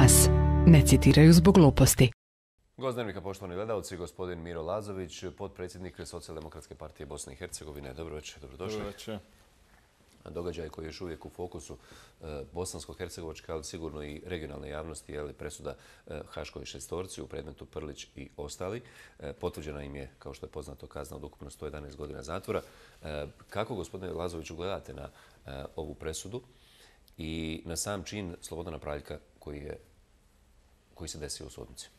nas. Ne citiraju zbog gluposti. Gost Dnevnika, poštovani gledalci, gospodin Miro Lazović, potpredsjednik Socijaldemokratske partije Bosne i Hercegovine. Dobro večer, dobrodošli. Dobro večer. Događaj koji je još uvijek u fokusu bosansko-hercegovačke, ali sigurno i regionalne javnosti, je presuda Haškoj šestorci u predmetu Prlić i ostali. Potvrđena im je, kao što je poznato, kazna od ukupno 111 godina zatvora. Kako, gospodine Lazoviću, gledate na ovu presudu i na sam čin Slobodana Praljka koji se desio u sudnici?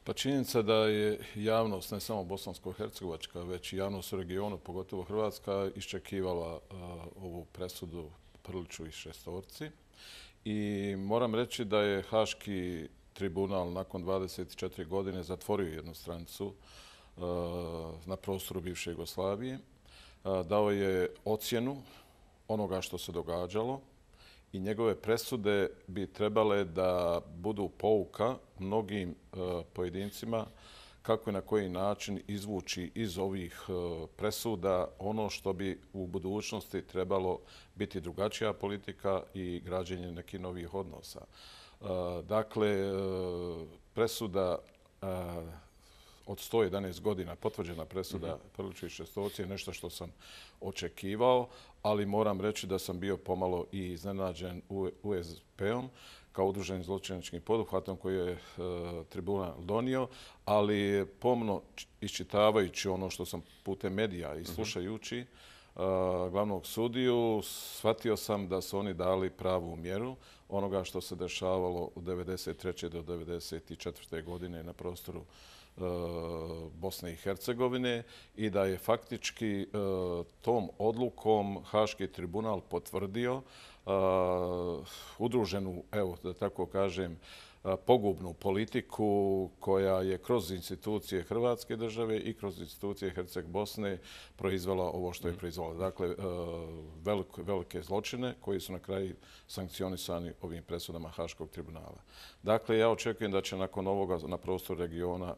Pa činjenica da je javnost, ne samo bosansko-hercegovačka, već i javnost u regionu, pogotovo Hrvatska, iščekivala ovu presudu Prliću i šestorci. I moram reći da je Haški tribunal nakon 24 godine zatvorio jednu stranicu na prostoru bivše Jugoslavije. Dao je ocjenu onoga što se događalo i njegove presude bi trebale da budu pouka mnogim pojedincima kako i na koji način izvući iz ovih presuda ono što bi u budućnosti trebalo biti drugačija politika i građenje nekih novih odnosa. Dakle, presuda od 111 godina, potvrđena presuda Prliću i šestorci je nešto što sam očekivao, ali moram reći da sam bio pomalo i iznenađen USP-om kao udruženim zločinačkim poduhvatom koji je tribunal donio, ali pomno iščitavajući ono što sam putem medija i slušajući glavnog sudiju, shvatio sam da su oni dali pravu mjeru onoga što se dešavalo od 1993. do 1994. godine na prostoru Bosne i Hercegovine i da je faktički tom odlukom Haški tribunal potvrdio udruženu, evo da tako kažem, pogubnu politiku koja je kroz institucije Hrvatske države i kroz institucije Herceg-Bosne proizvela ovo što je proizvela. Dakle, velike zločine koji su na kraju sankcionisani ovim presudama Haškog tribunala. Dakle, ja očekujem da će nakon ovoga na prostoru regiona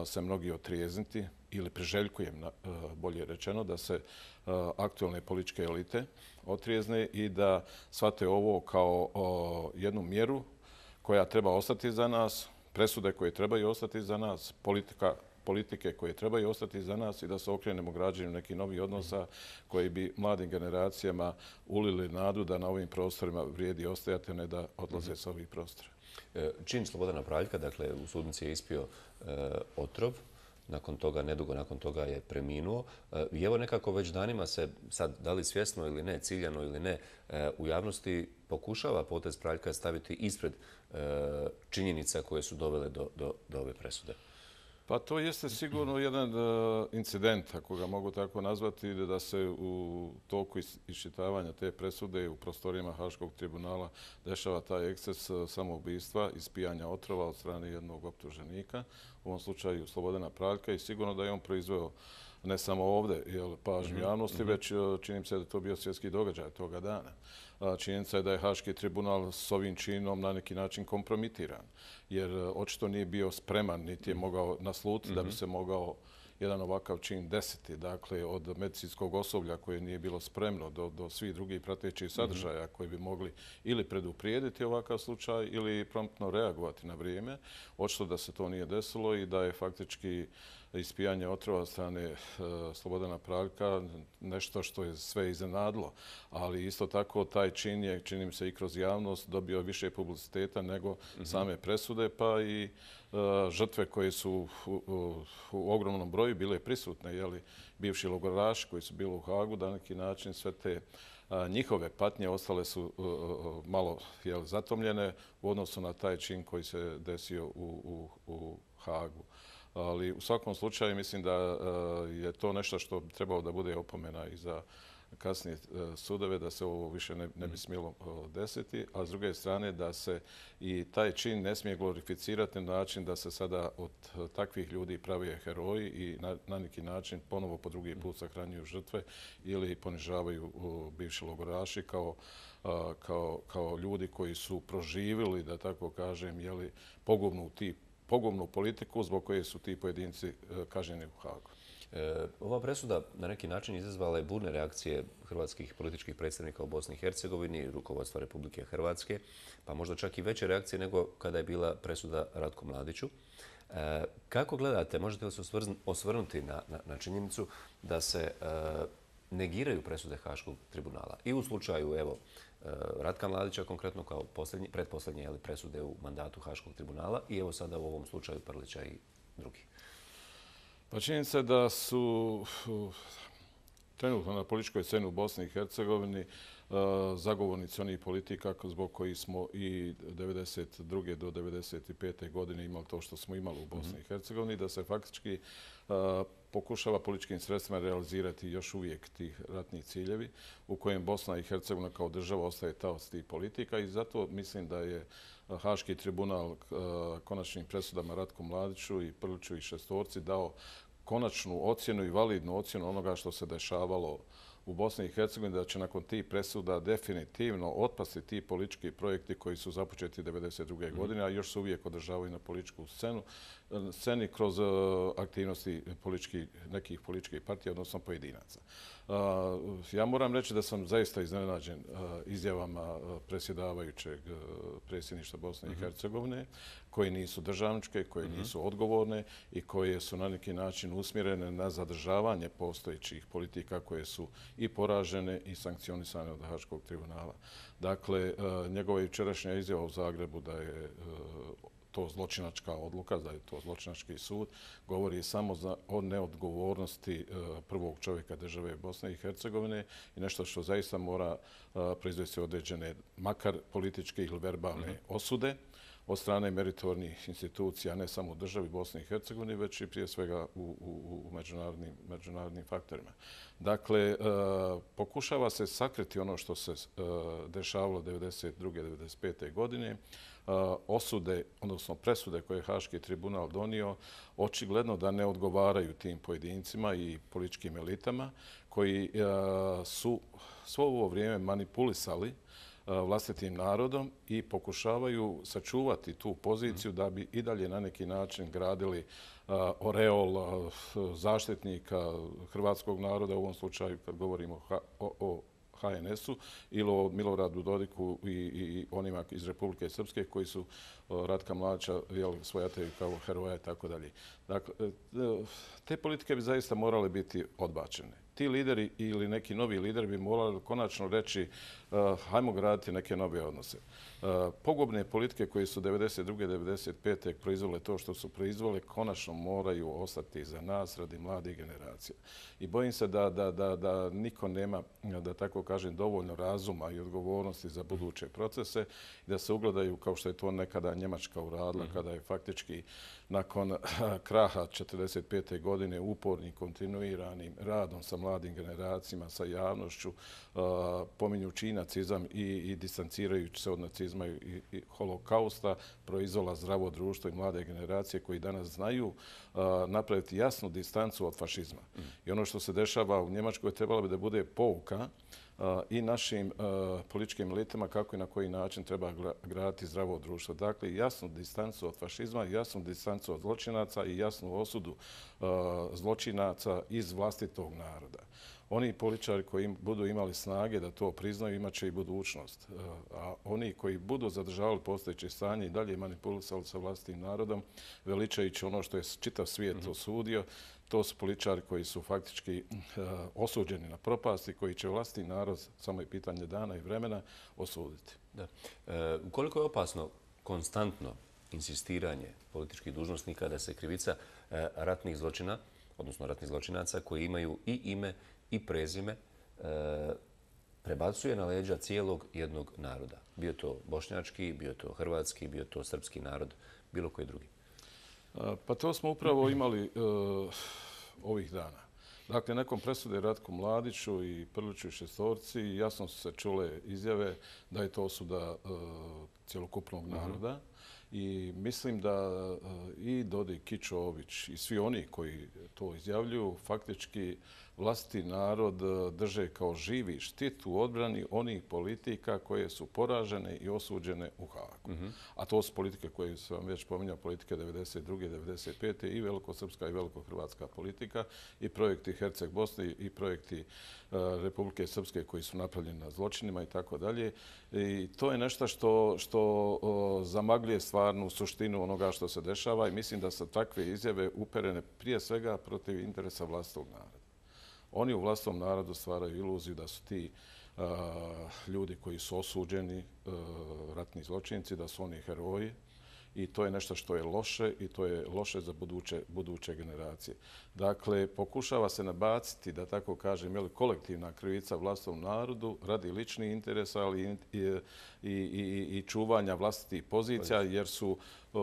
se mnogi otrijezniti ili priželjkujem, bolje rečeno, da se aktualne političke elite otrijezne i da shvate ovo kao jednu mjeru koja treba ostati za nas, presude koje trebaju ostati za nas, politike koje trebaju ostati za nas i da se okrenemo građenju nekih novih odnosa koji bi mladim generacijama ulili nadu da na ovim prostorima vrijedi ostajati, a ne da odlaze sa ovih prostora. Čin Slobodana Praljka, dakle, u sudnici je ispio otrov. Nakon toga, nedugo nakon toga je preminuo. I evo nekako već danima se, sad da li svjesno ili ne, ciljano ili ne, u javnosti pokušava potez Praljka staviti ispred činjenica koje su dovele do ove presude. Pa to jeste sigurno jedan incident, ako ga mogu tako nazvati, da se u toku iščitavanja te presude u prostorijama Haškog tribunala dešava taj eksces samoubistva, ispijanja otrova od strane jednog optuženika, u ovom slučaju Slobodana Praljka, i sigurno da je on proizveo ne samo ovdje pažnju javnosti, već čini se da je to bio svjetski događaj toga dana. Činjenica je da je Haški tribunal s ovim činom na neki način kompromitiran, jer očito nije bio spreman, niti je mogao naslutiti da bi se mogao jedan ovakav čin desiti. Dakle, od medicinskog osoblja koje nije bilo spremno do svih drugih pratećih sadržaja koji bi mogli ili preduprijediti ovakav slučaj ili promptno reagovati na vrijeme. Očito da se to nije desilo i da je faktički ispijanje otrova od strane Slobodana Praljka nešto što je sve iznenadilo. Ali isto tako taj čin je, čini mi se, i kroz javnost dobio više publiciteta nego same presude, pa i žrtve koje su u ogromnom broju bile prisutne, bivši logoraši koji su bili u Hagu, da na neki način sve te njihove patnje ostale su malo zatomljene u odnosu na taj čin koji se desio u Hagu. Ali u svakom slučaju mislim da je to nešto što bi trebalo da bude opomena i za kasnije sudove, da se ovo više ne bi smjelo desiti, a s druge strane da se i taj čin ne smije glorificirati na način da se sada od takvih ljudi pravi heroji i na neki način ponovo po drugi put sahranjuju žrtve ili ponižavaju bivši logoraši kao ljudi koji su proživjeli, da tako kažem, pogubnu politiku zbog koje su ti pojedinci kažnjeni u Hagu. Ova presuda na neki način izazvala je burne reakcije hrvatskih političkih predstavnika u Bosni i Hercegovini, rukovodstva Republike Hrvatske, pa možda čak i veće reakcije nego kada je bila presuda Ratku Mladiću. Kako gledate, možete li se osvrnuti na činjenicu da se negiraju presude Haškog tribunala i u slučaju Ratka Mladića konkretno kao pretposljednje presude u mandatu Haškog tribunala i evo sada u ovom slučaju Prlića i drugih? Pa činjenica je da su trenutno na političkoj sceni u Bosni i Hercegovini zagovornici onih politika zbog kojih smo i 1992. do 1995. godine imali to što smo imali u Bosni i Hercegovini, da se faktički pokušava političkim sredstvima realizirati još uvijek tih ratnih ciljevi u kojem Bosna i Hercegovina kao država ostaje taoc tih politika i zato mislim da je Haški tribunal konačnim presudama Ratku Mladiću i Prliću i šestorci dao konačnu ocjenu i validnu ocjenu onoga što se dešavalo u Bosni i Hercegovini, da će nakon tih presuda definitivno otpasti ti politički projekti koji su započeti 1992. godine, a još se uvijek održavaju na političku sceni kroz aktivnosti nekih političkih partija, odnosno pojedinaca. Ja moram reći da sam zaista iznenađen izjavama predsjedavajućeg predsjedništva Bosne i Hercegovine, koje nisu državničke, koje nisu odgovorne i koje su na neki način usmjerene na zadržavanje postojećih politika koje su i poražene i sankcionisane od Haškog tribunala. Dakle, njegova jučerašnja izjava u Zagrebu da je to zločinačka odluka, da je to zločinački sud, govori samo o neodgovornosti prvog čovjeka države Bosne i Hercegovine i nešto što zaista mora proizvesti određene, makar političke ili verbalne osude od strane meritornih institucija, ne samo u državi Bosne i Hercegovine, već i prije svega u međunarodnim faktorima. Dakle, pokušava se sakriti ono što se dešavalo 1992. 1995. godine, osude, odnosno presude koje je Haški tribunal donio, očigledno da ne odgovaraju tim pojedincima i političkim elitama koji su svo ovo vrijeme manipulisali vlastitim narodom i pokušavaju sačuvati tu poziciju da bi i dalje na neki način gradili oreol zaštitnika hrvatskog naroda, u ovom slučaju kad govorimo o HNS-u ili o Miloradu Dodiku i onima iz Republike Srpske koji su Ratka Mladića svojataju kao heroja i tako dalje. Dakle, te politike bi zaista morale biti odbačene. Ti lideri ili neki novi lideri bi morali konačno reći hajmo graditi neke nove odnose. Pogubne politike koje su 1992. 1995. proizvole to što su proizvole konačno moraju ostati za nas radi mladih generacija. I bojim se da niko nema, da tako kažem, dovoljno razuma i odgovornosti za buduće procese i da se ugledaju kao što je to nekada Njemačka uradila kada je faktički nakon kraha 1945. godine upornim, kontinuiranim radom sa mladim generacijama, sa javnošću, pominjući nacizam i distancirajući se od nacizma i holokausta, proizvola zdravo društvo i mlade generacije koji danas znaju napraviti jasnu distancu od fašizma. I ono što se dešava u Njemačkoj trebalo bi da bude pouka i našim političkim elitama kako i na koji način treba graditi zdravo društvo. Dakle, jasnu distancu od fašizma, jasnu distancu od zločinaca i jasnu osudu zločinaca iz vlastitog naroda. Oni političari koji budu imali snage da to priznaju, imat će i budućnost. A oni koji budu zadržavali postojeće stanje i dalje manipulisali sa vlastitim narodom, veličajući ono što je čitav svijet osudio, to su političari koji su faktički osuđeni na propast i koji će vlastiti narod, samo je pitanje dana i vremena, osuditi. Da. Koliko je opasno konstantno insistiranje političkih dužnosnika da se krivica ratnih zločina, odnosno ratnih zločinaca koji imaju i ime i prezime, prebacuje na leđa cijelog jednog naroda? Bio to bošnjački, bio to hrvatski, bio to srpski narod, bilo koji drugi? Pa to smo upravo imali ovih dana. Dakle, nakon presude Ratku Mladiću i Prliću i šestorci jasno su se čule izjave da je to osuda cjelokupnog naroda. I mislim da i Dodik, Kičović i svi oni koji to izjavljuju faktički vlastiti narod drže kao živi štit u odbrani onih politika koje su poražene i osuđene u Haagu. A to su politike koje sam već pominjao, politike 92. 95. i velikosrpska i velikohrvatska politika i projekti Herceg Bosne i projekti Republike Srpske koji su napravljeni na zločinima i tako dalje. I to je nešto što zamagljuje stvarnu suštinu onoga što se dešava i mislim da su takve izjave uperene prije svega protiv interesa vlastitog naroda. Oni u vlastitom narodu stvaraju iluziju da su ti ljudi koji su osuđeni, ratni zločinci, da su oni heroji. I to je nešto što je loše i to je loše za buduće generacije. Dakle, pokušava se nabaciti, da tako kažem, kolektivna krivica vlastitom narodu radi ličnih interesa, ali i čuvanja vlastitih pozicija, jer su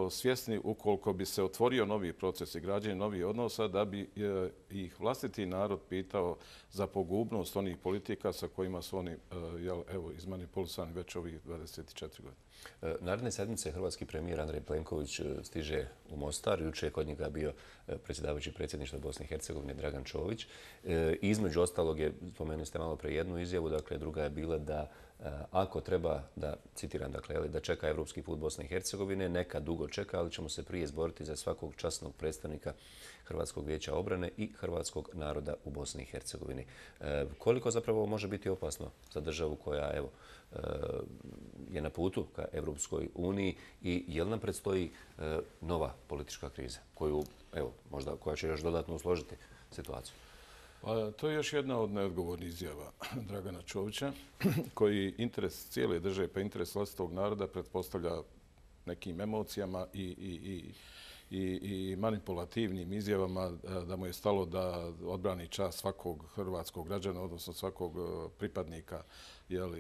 svjesni ukoliko bi se otvorio novi proces i građenje novih odnosa, da bi ih vlastiti narod pitao za pogubnost onih politika sa kojima su oni izmanipulisani već ovih 24 godine. Naredne sedmice hrvatski premijer Andrej Plenković stiže u Mostar. Juče je kod njega bio predsjedavajući predsjedništva Bosne i Hercegovine Dragan Čović. Između ostalog je, spomenuli ste malo pre jednu izjavu, dakle druga je bila da ako treba da, citiram, dakle, da čeka evropski put Bosne i Hercegovine, neka dugo čeka, ali ćemo se prije izboriti za svakog časnog predstavnika Hrvatskog vijeća obrane i hrvatskog naroda u Bosni i Hercegovini. Koliko zapravo može biti opasno za državu koja, evo, je na putu ka Evropskoj uniji i je li nam predstoji nova politička kriza koju, evo, možda koja će još dodatno usložiti situaciju? Pa, to je još jedna od neodgovornih izjava Dragana Čovića, koji interes cijele države pa interes vlastitog naroda pretpostavlja nekim emocijama i manipulativnim izjavama da mu je stalo da odbrani čast svakog hrvatskog građana, odnosno svakog pripadnika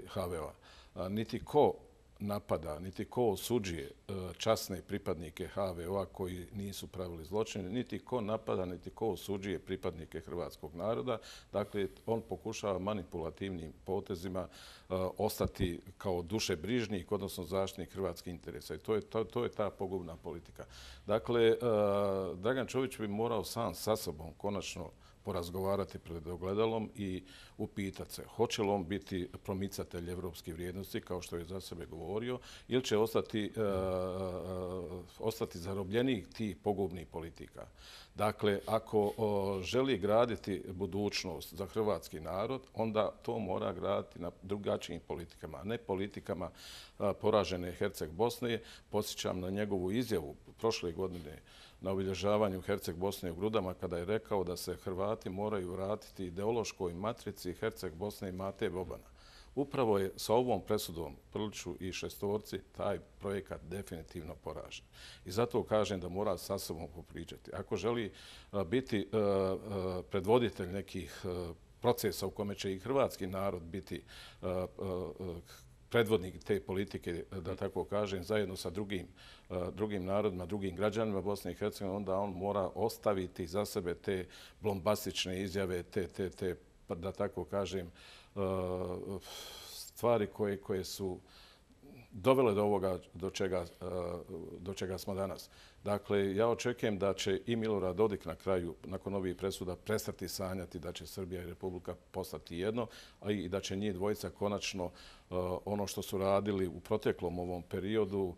HVO-a. Niti ko napada, niti ko osuđuje časne pripadnike HVO-a koji nisu pravili zločine, niti ko napada, niti ko osuđuje pripadnike hrvatskog naroda. Dakle, on pokušava manipulativnim potezima ostati kao dušebrižnik, odnosno zaštitnik hrvatskih interesa. I to je ta pogubna politika. Dakle, Dragan Čović bi morao sam sa sobom konačno porazgovarati pred ogledalom i upitati se hoće li on biti promicatelj evropskih vrijednosti, kao što je za sebe govorio, ili će ostati zarobljenik tih pogubnih politika. Dakle, ako želi graditi budućnost za hrvatski narod, onda to mora graditi na drugačijim politikama, a ne politikama poražene Herceg Bosne. Podsjećam na njegovu izjavu prošle godine na obilježavanju Herceg Bosne u Grudama, kada je rekao da se Hrvati moraju vratiti ideološkoj matrici Herceg Bosne i Mate Bobana. Upravo je sa ovom presudom Prliću i šestorci taj projekat definitivno poražen. I zato kažem da mora sa sobom popričati. Ako želi biti predvoditelj nekih procesa u kome će i hrvatski narod biti predvodnik te politike, da tako kažem, zajedno sa drugim narodima, drugim građanima Bosne i Hercegovine, onda on mora ostaviti za sebe te bombastične izjave, te da tako kažem, stvari koje su dovele do ovoga do čega smo danas. Dakle, ja očekujem da će i Milorad Dodik na kraju, nakon ovih presuda, prestati sanjati da će Srbija i Republika postati jedno, a i da će njih dvojica konačno ono što su radili u proteklom ovom periodu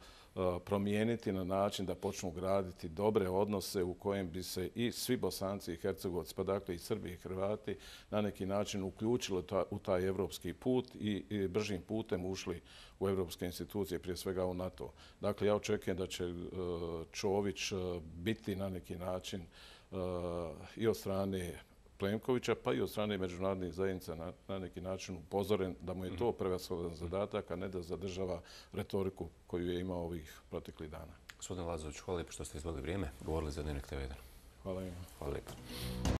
promijeniti na način da počnu graditi dobre odnose u kojem bi se i svi Bosanci i Hercegovci, pa dakle i Srbi i Hrvati, na neki način uključili u taj evropski put i bržim putem ušli u evropske institucije, prije svega u NATO. Dakle, ja očekujem da će Čović biti na neki način i od strane Plenkovića, pa i od strane međunarodnih zajednica na neki način upozoren da mu je to prevashodan zadatak, a ne da zadržava retoriku koju je imao ovih proteklih dana. Gospodin Lazović, hvala lijepo što ste izdvojili vrijeme. Govorili za Dnevnik TV1. Hvala im. Hvala lijepo.